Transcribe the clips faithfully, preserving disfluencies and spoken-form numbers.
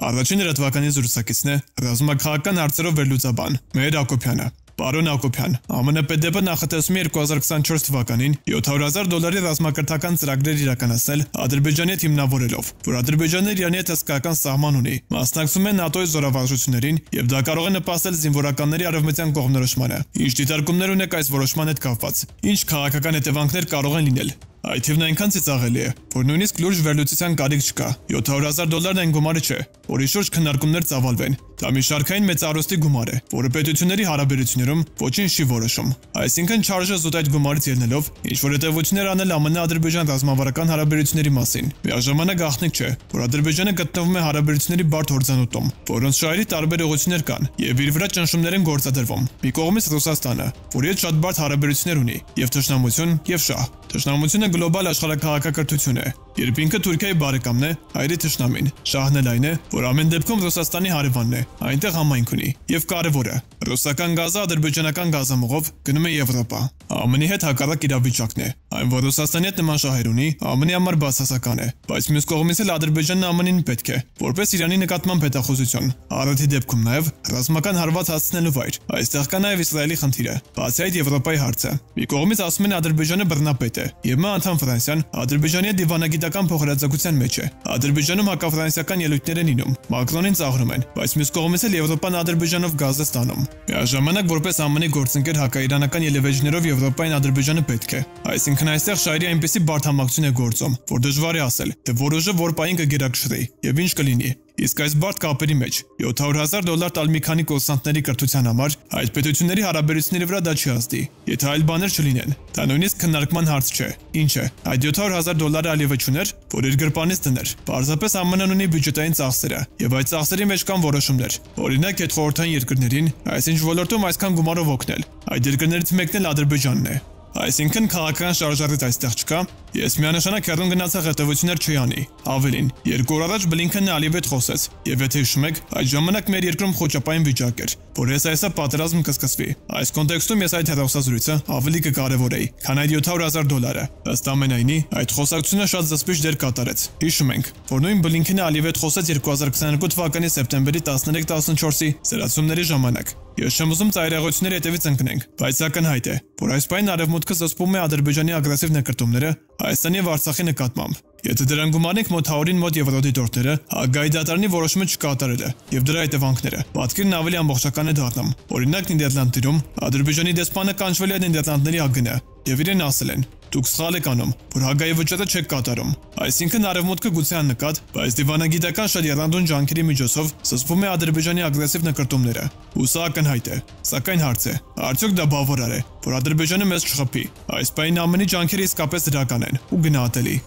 Առաջին լրատվականի զրուցակիցն է ռազմաքաղաքական հարցերով վերլուծաբան Մեհեր Հակոբյանը։ Պարոն Հակոբյան, ԱՄՆ ՊԴՊ նախատեսում է երկու հազար քսաներկու թվականին յոթ հարյուր հազար դոլարի ռազմակրթական ծրագրեր իրականացնել Ադրբեջանի հետ հիմնավորելով, որ Ադրբեջանն Իրանի հետ հսկայական սահման ունի, մասնակցում է ՆԱՏՕ-ի զորավարժություններին եւ դա կարող է նպաստել զինվորականների արևմտյան կողմնորոշմանը։ Ինչ դիտարկումներ ունեք այս որոշման հետ կապված։ Ինչ քաղաքական հետևանքներ կարող են լինել։ Այդ թիվն այնքան ծիծաղելի է, որ նույնիսկ լուրջ վերլուծության կարիք չկա։ յոթ հարյուր հազար դոլարն այն գումարը չէ, որի շուրջ քննարկումներ ծավալվեն։ Դա մի շարքային մեծարոստի գումար է, որը պետությունների հարաբերություններում ոչինչ չի որոշում։ Այսինքն չարժե զուտ այդ գումարից ելնելով ինչ-որ հետևություններ անել ԱՄՆ-Ադրբեջան ռազմավարական հարաբերությունների մասին։ Միաժամանակ գաղտնիք չէ, որ Ադրբեջանը գտնվում է հարաբերությունների բարդ հորձանուտում, որոնց շահերի տարբեր ուղղություններ կան, եւ իր վրա ճնշումներ են գործադրվում։ Մի կողմից Ռուսաստանը, որի հետ շատ բարդ հարաբերություններ ունի, եւ թշնամություն եւ շահ։ Թշնամությունը գլոբալ աշխարհակաղակակրթություն է, երբ ինքը Թուրքիայի բարեկամն է, հայրի թշնամին։ Շահն էլ այն է, որ ամեն դեպքում Ռուսաստանի հարևանն է, այնտեղ համայնք ունի, եւ կարևորը, ռուսական գազը ադրբեջանական գազամուղով գնում է Եվրոպա։ ԱՄՆ-ի հետ հակառակ իրավիճակն է, այն որ Ռուսաստանի հետ նման շահեր ունի, ԱՄՆ-ի համար բացասական է, բայց մյուս կողմից էլ Ադրբեջանն ԱՄՆ-ին պետք է, որպես Իրանի նկատմամբ հետախուզություն, առիթի դեպքում նաեւ ռազմական հարված հասցնելու վայր։ Այստեղ կա նաեւ Իսրայելի խնդիրը, բացի այդ Եվրոպայի հարցը։ Մի կողմից ասում են Ադրբեջանը բռնապետ է, եւ ՄԱ անդամ Ֆրանսիան Ադրբեջանի դիվանագիտական փոխհրաձգության մեջ է։ Ադրբեջանում հակաֆրանսիական ելույթներ են ինում, Մակրոնին ծաղրում են, բայց մյուս կողմից էլ Եվրոպան Ադրբեջանով գազ է ստանում։ Միաժամանակ որպես ԱՄՆ-ի գործընկեր հակաիրանական ելևէջներով Եվրոպային Ադրբեջանը պետք է։ Այսինքն այստեղ շահերի այնպիսի բարդ համակցություն է գործում, որ դժվար է ասել, թե որ ուժը որ պահին կգերակշռի եւ ինչ կլինի։ Իսկ այս բարդ կապերի մեջ յոթ հարյուր հազար դոլար տալ մի քանի կուրսանտների կրթության համար այդ պետությունների հարաբերությունների վրա դա չի ազդի, եթե այլ բաներ չլինեն։ Դա նույնիսկ քննարկման հարց չէ։ Ինչ է, այդ յոթ հարյուր հազար դոլարը ալիվը չուներ, որ իր գրպանից դներ։ Պարզապես ԱՄՆ-ն ունի բյուջետային ծախսերը, եւ այդ ծախսերի մեջ կան որոշումներ։ Օրինակ, այդ խորհրդային երկրներին այսինչ ոլորտում այսքան գումարով օգնել։ Այդ երկրներից մեկն էլ Ադրբեջանն է։ Այսինքն քաղաքական շարժառիթ այստեղ չկա։ Ես միանշանակ հեռուն գնացող հետևություններ չի անի։ Ավելին, երկու օր առաջ Բլինքենն Ալիևի հետ խոսեց, եւ եթե հիշում եք, այդ ժամանակ մեր երկրում խոճապային վիճակ էր, որ հեսա պատերազմ կսկսվի։ Այս կոնտեքստում ես այդ հեռախոսազրույցը ավելի կկարևորեի, քան այդ յոթ հարյուր հազար դոլարը։ Ըստ ամենայնի, այդ խոսակցությունը շատ զսպիչ դեր կատարեց։ Հիշում ենք, որ նույն Բլինքենը Ալիևի հետ խոսեց երկու հազար քսաներկու թվականի սեպտեմբերի տասներեք տասնչորսի սրացումների ժամանակ։ Ես չեմ ուզում ծայրահեղությունների հետևից ընկնենք, բայց ակնհայտ է, որ այս պայն արևմուտքը զսպում է Ադրբեջանի ագրեսիվ նկրտումները Հայաստանի եւ Արցախի նկատմամբ։ Եթե դրան գումարենք մոտ հարյուրին մոտ եվրոդիտորդները, Հագայի դատարանի որոշումը չկատարելը եւ դրա հետևանքները, պատկերն ավելի ամբողջական է դառնում։ Օրինակ Նիդերլանդներում Ադրբեջանի դեսպանը կանչվել է Նիդերլանդների ԱԳՆ եւ իրեն ասել են. Դուք սխալ եք անում, որ Հագայի վճռը չեք կատարում։ Այսինքն արևմուտքը գուցե աննկատ, բայց դիվանագիտական շատ եռանդուն ջանքերի միջոցով զսպում է Ադրբեջանի ագրեսիվ նկրտումները։ Ու սա ակնհայտ է։ Սակայն հարց է. արդյոք դա բավարար է, որ Ադրբեջանը մեզ չխփի։ Այս պայն ԱՄՆ-ի ջանքերը իսկապես դրական են ու գնահատելի։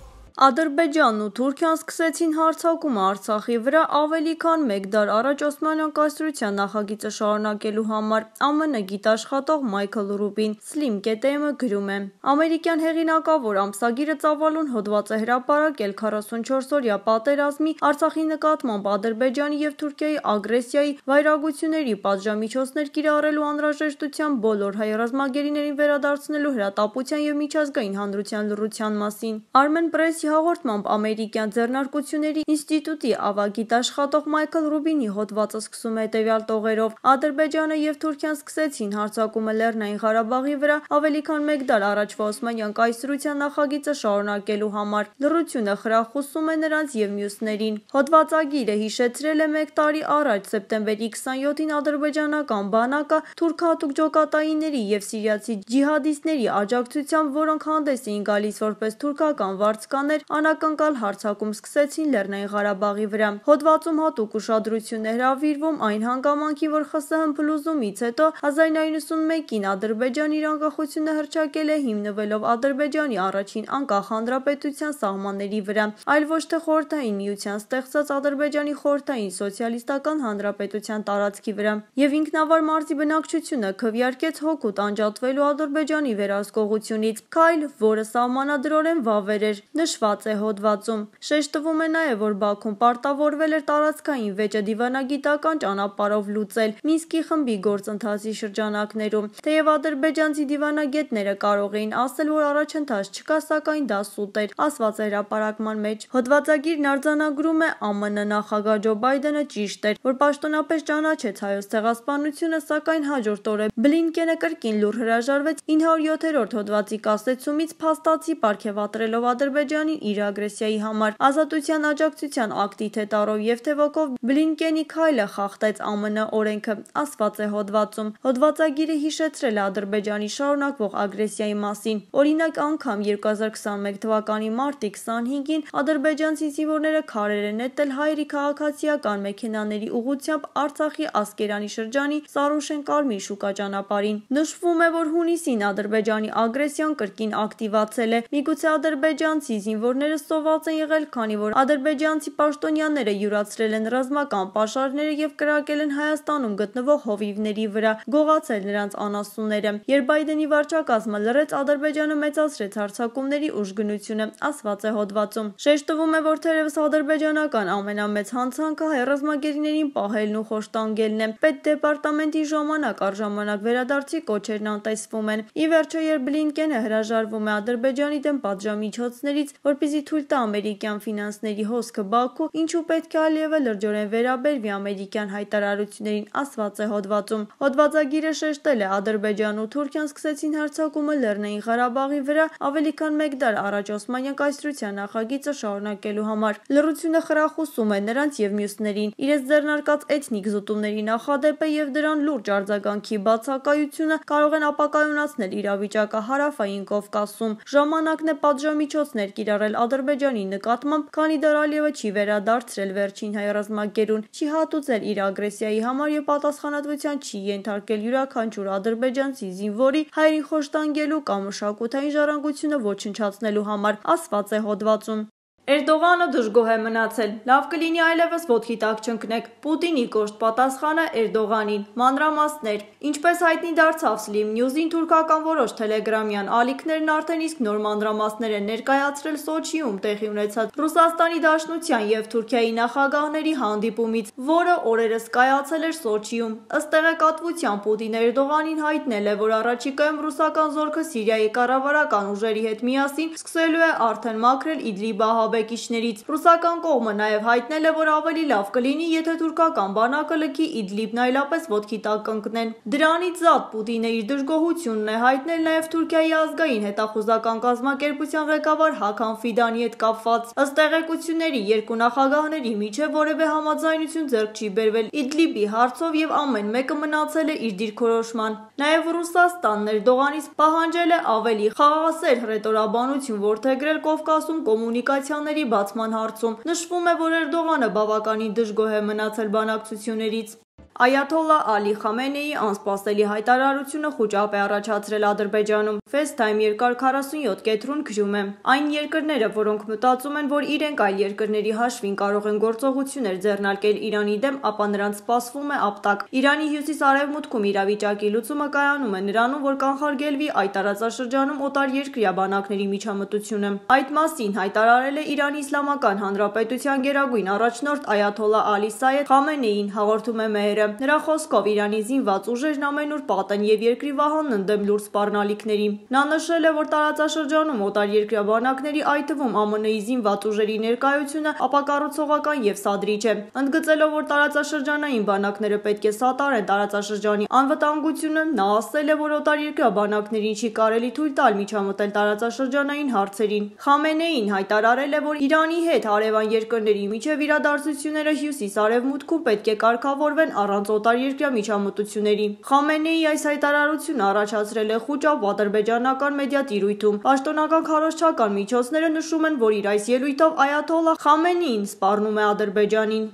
Ադրբեջանն ու Թուրքիան սկսեցին հարձակումը Արցախի վրա ավելի քան մեկ դար առաջ Օսմանյան կայսրության նախագիծը շարունակելու համար, ԱՄՆ գիտաշխատող Մայքլ Ռուբին Slim կետ էմ-ը գրում է. Ամերիկյան հեղինակավոր ամսագիրը ծավալուն հոդված է հրապարակել քառասունչորս-օրյա պատերազմի, Արցախի նկատմամբ Ադրբեջանի եւ Թուրքիայի ագրեսիայի, վայրագությունների պատժամիջոցներ կիրառելու անհրաժեշտության, բոլոր հայ ռազմագերիներին վերադարձնելու հրատապության եւ միջազգային հանրության լռության մասին։ Armen Press-ի հաղորդմամբ ամերիկյան ձեռնարկությունների ինստիտուտի ավագիտաշխատող Մայքլ Ռուբինի հոդվածը սկսում է հետևյալ տողերով. Ադրբեջանը եւ Թուրքիան սկսեցին հարձակումը Լեռնային Ղարաբաղի վրա ավելի քան մեկ դար առաջվա Օսմանյան կայսրության նախագիծը շարունակելու համար։ Լռությունը խրախուսում է նրանց եւ մյուսներին։ Հոդվածագիրը հիշեցրել է մեկ տարի առաջ սեպտեմբերի քսանյոթին ադրբեջանական բանակը թուրքահատուկ ջոկատայինների եւ սիրիացի ջիհադիստների աջակցությամբ, որոնք հանդես էին գալիս որպես թուրքական վարձկաներ, անակնկալ հարձակում սկսեցին Լեռնային Ղարաբաղի վրա։ Հոդվածում հատուկ ուշադրություն է հրավիրվում այն հանգամանքին, որ ԽՍՀՄ փլուզումից հետո հազար նույնսուն ութ-ին Ադրբեջանը իր անկախությունը հռչակել է հիմնվելով Ադրբեջանի առաջին անկախ հանրապետության սահմանների վրա, այլ ոչ թե Խորհրդային Միության ստեղծած Ադրբեջանի խորհրդային սոցիալիստական հանրապետության տարածքի վրա։ Եվ ինքնավար մարզի բնակչությունը քվեարկեց հօգուտ անջատվելու Ադրբեջանի վերահսկողությունից, քայլ, որը սահմանադրորեն վավեր էր։ Նշվում նշված է հոդվածում։ Շեշտվում է նաև, որ Բաքուն պարտավորվել էր տարածքային վեճը դիվանագիտական ճանապարհով լուծել Մինսկի խմբի գործընթացի շրջանակներում, թեև ադրբեջանցի դիվանագետները կարող էին ասել, որ առաջընթաց չկա, սակայն դա սուտ էր, ասված է հրապարակման մեջ։ Հոդվածագիրն արձանագրում է ԱՄՆ նախագահ Ջո Բայդենը ճիշտ էր, որ պաշտոնապես ճանաչեց հայոց ցեղասպանությունը, սակայն հաջորդ օրը Բլինկենը կրկին լուր հրաժարվեց ինը հարյուր յոթերորդ հոդվածի կասեցումից փաստացի պարգևատրելով Ադրբեջանին իր ագրեսիայի համար։ Ազատության աջակցության ակտի թե տառով եւ թե ոգով Բլինկենի քայլը խախտեց ԱՄՆ օրենքը, ասված է հոդվածում։ Հոդվածագիրը հիշեցրել է Ադրբեջանի շարունակվող ագրեսիայի մասին։ Օրինակ, անգամ երկու հազար քսաներեք թվականի մարտի քսանհինգին ադրբեջանցի զինվորները քարեր են նետել հայերի քաղաքացիական մեքենաների ուղղությամբ Արցախի Ասկերանի շրջանի Սարուշեն-Կարմիր շուկա ճանապարհին։ Նշվում է, որ հունիսին Ադրբեջանի ագրեսիան կրկին ակտիվացել է։ Միգուցե ադրբեջանցի զինվորները սոված են եղել, քանի որ ադրբեջանցի պաշտոնյաները յուրացրել են ռազմական պաշարները եւ կրակել են Հայաստանում գտնվող հովիվների վրա, գողացել նրանց անասունները։ Երբ Բայդենի վարչակազմը լռեց, Ադրբեջանը մեծացրեց հարձակումների ուժգնությունը, ասված է հոդվածում։ Շեշտվում է, որ թերևս ադրբեջանական ամենամեծ հանցանքը հայ ռազմագերիներին պահելն ու խոշտանգելն է։ Պետդեպարտամենտի ժամանակ առ ժամանակ վերադարձի կոչերն անտեսվում են։ Ի վերջո, երբ Բլինկենը հրաժարվում է Ադրբեջանի դեմ պատժամիջոցներից, որպեսզի թույլ տա ամերիկյան ֆինանսների հոսքը Բաքու, ինչու պետք է Ալիևը լրջորեն վերաբերվի ամերիկյան հայտարարություններին, ասված է հոդվածում։ Հոդվածագիրը շեշտել է, Ադրբեջանն ու Թուրքիան սկսեցին հարձակումը Լեռնային Ղարաբաղի վրա ավելի քան մեկ դար առաջ Օսմանյան կայսրության նախագիծը շարունակելու համար։ Լռությունը խրախուսում է նրանց եւ մյուսներին իրենց ձեռնարկած էթնիկ զուտումների նախադեպը եւ դրան լուրջ արձագանքի բացակայությունը կարող են ապակայունացնել իրավիճակը Հարավային Կովկասում։ Ժամանակն է պատժամիջոցներ կիրառել Ադրբեջանի նկատմամբ, քանի դեռ Ալիևը չի վերադարձրել վերջին հայ ռազմագերուն, չի հատուցել իր ագրեսիայի համար եւ պատասխանատվության չի ենթարկել յուրաքանչյուր ադրբեջանցի զինվորի հայերին խոշտանգելու կամ մշակութային ժառանգությունը ոչնչացնելու համար, ասված է հոդվածում։ Էրդողանը դժգոհ է մնացել։ Լավ կլինի այլևս ոտքի տակ չընկնեք։ Պուտինի կոշտ պատասխանը Էրդողանին։ Մանրամասներ։ Ինչպես հայտնի դարձավ Slim News-ին, թուրքական որոշ թելեգրամյան ալիքներն արդեն իսկ նոր մանրամասներ են ներկայացրել Սոչիում տեղի ունեցած Ռուսաստանի Դաշնության եւ Թուրքիայի նախագահների հանդիպումից, որը օրերս կայացել էր Սոչիում։ Ըստ տեղեկատվության, Պուտինը Էրդողանին հայտնել է, որ առաջիկայում ռուսական զորքը Սիրիայի կառավարական ուժերի հետ միասին սկսելու է արդեն մաքրել Իդլիբ ահաբեկիչներից։ Ռուսական կողմը նաև հայտնել է, որ ավելի լավ կլինի, եթե թուրքական բանակը լքի Իդլիբն այլապես ոտքի տակ կընկնեն։ Դրանից զատ Պուտինը իր դժգոհությունն է հայտնել նաև Թուրքիայի ազգային հետախուզական կազմակերպության ղեկավար Հական Ֆիդանի հետ կապված։ Ըստ տեղեկությունների, երկու նախագահների միջև որևէ համաձայնություն ձեռք չի բերվել Իդլիբի հարցով եւ ամեն մեկը մնացել է իր դիրքորոշման։ Նաև Ռուսաստանն Էրդողանից պահանջել է ավելի խաղաղասեր հռետորաբանություն որդեգրել Կովկասում կոմունիկացիաների բացման հարցում։ Նշվում է, որ Էրդողանը բավականին դժգոհ է մնացել բանակցություններից։ Այաթոլլա Ալի Խամենեի անսպասելի հայտարարությունը խուճապ է առաջացրել Ադրբեջանում։ FaceTime երկար քառասունյոթ կետրուն գրում է. Այն երկրները, որոնք մտածում են, որ իրենք այլ երկրների հաշվին կարող են գործողություններ ձեռնարկել Իրանի դեմ, ապա նրանց սպասվում է ապտակ։ Իրանի հյուսիս-արևմուտքում իրավիճակի լուծումը կայանում է նրանում, որ կանխարգելվի այդ տարածաշրջանում օտարերկրյա բանակների միջամտությունը։ Այդ մասին հայտարարել է Իրանի Իսլամական Հանրապետության գերագույն առաջնորդ Այաթոլլա Ալի Սայեդ Խամենեին, հաղորդում է Մեհերը։ Նրա խոսքով Իրանի զինված ուժերն ամենուր պատ են եւ երկրի վահանն ընդդեմ լուրջ սպառնալիքների։ Նա նշել է, որ տարածաշրջանում օտարերկրյա բանակների, այդ թվում ԱՄՆ-ի զինված ուժերի ներկայությունը ապակառուցողական եւ սադրիչ է։ Ընդգծելով, որ տարածաշրջանային բանակները պետք է սատարեն տարածաշրջանի անվտանգությունը, նա ասել է, որ օտարերկրյա բանակներին չի կարելի թույլ տալ միջամտել տարածաշրջանային հարցերին։ Խամենեին հայտարարել է, որ Իրանի հետ հարևան երկրների միջև իրադարձությունները հյուսիս-արևմուտքում պետք է կարգավորվեն առանց օտարերկրյա միջամտությունների։ Խամենեի այս հայտարարությունը առաջացրել է խուճապ ադրբեջանական մեդիա տիրույթում։ Պաշտոնական քարոզչական միջոցները նշում են, որ իր այս ելույթով Այաթոլլա Խամենեին սպառնում է Ադրբեջանին։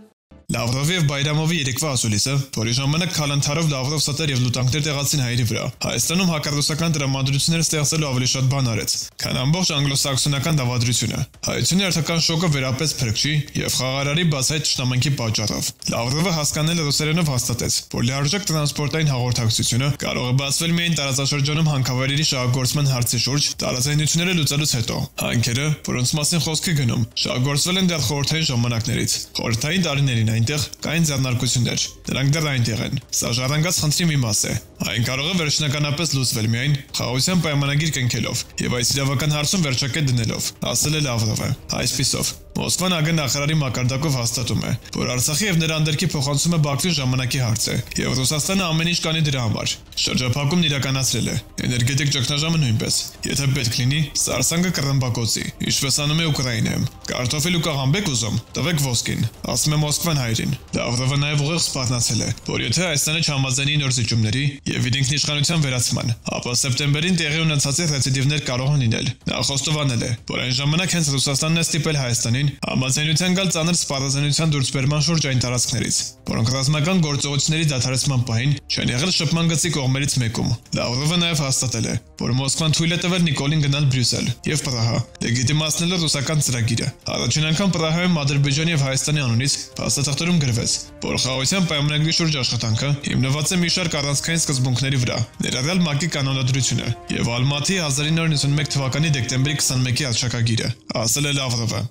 Լավրովի եւ Բայրամովի երեկվա ասուլիսը, որի ժամանակ քալանթարով Լավրով ստեր եւ լուտանքներ տեղացին հայերի վրա, Հայաստանում հակառուսական տրամադրություններ ստեղծելու ավելի շատ բան արեց, քան ամբողջ անգլոսաքսոնական դավադրությունը։ Հայությունը հերթական շոկը վերապեց փրկչի եւ խաղարարի բացահայտ ճշտամանքի պատճառով։ Լավրովը հասկանել ռուսերենով հաստատեց, որ լիարժեք տրանսպորտային հաղորդակցությունը կարող է բացվել միայն տարածաշրջանում հանքավայրերի շահագործման հարցի շուրջ տարածայնությունները լուծելուց հետո։ Հանքերը, որոնց մասին խոսք է գնում, շահագործվել են դեռ խորհրդային ժամանակներից։ Խորհրդային տարիներին այնտեղ կային ձեռնարկություններ, դրանք դեռ այնտեղ են։ Սա ժառանգած խնդրի մի մաս է։ Այն կարող է վերջնականապես լուծվել միայն խաղաղության պայմանագիր կնքելով եւ այս իրավական հարցում վերջակետ դնելով, ասել է Լավրովը։ Այսպիսով, Մոսկվան ԱԳ նախարարի մակարդակով հաստատում է, որ Արցախի եւ նրա անդերքի փոխանցումը Բաքվին ժամանակի հարց է, եւ Ռուսաստանը ամեն ինչ կանի դրա համար։ Շրջափակումն իրականացրել է, էներգետիկ ճգնաժամը նույնպես։ Եթե պետք լինի, սարսանգը կռմբակոծի, ինչպես անում է Ուկրաինայում։ Կարտոֆիլ ու կաղամբեք ուզում, տվեք ոսկին, ասում է Մոսկվան հայերին։ Լավրովը նաեւ ուղիղ սպառնացել է, որ եթե Հայաստանը չհամաձայնի նոր զիջումների եւ իր ինքնիշխանության վերացման, ապա սեպտեմբերին տեղի ունեցած ռեցիդիվներ կարող են լինել։ Նա խոստովանել է, որ այն ժամանակ հենց Ռուսաստանն է ստիպել Հայաստանին համաձայնության գալ ծանր սպառազինության դուրսբերման շուրջ այն տարածքներից, որոնք ռազմական գործողությունների դադարեցման պահին չեն եղել շփման գծի կողմերից մեկում։ Լավրովը նաև հաստատել է, որ Մոսկվան թույլ է տվել Նիկոլին գնալ Բրյուսել եւ Պրահա, լեգիտիմացնելով ռուսական ծրագիրը։ Առաջին անգամ Պրահայում Ադրբեջանի եւ Հայաստանի անունից փաստաթղթերում գրվեց, որ խաղաղության պայմանագրի շուրջ աշխատանքը հիմնված է մի շարք առանցքային սկզբունքների վրա, ներառյալ ՄԱԿ-ի կանոնադրությունը եւ Ալմատի հազար ինը հարյուր նվաթ մեկ թվականի դեկտեմբերի քսանմեկի հռչակագիրը, ասել է Լավրովը։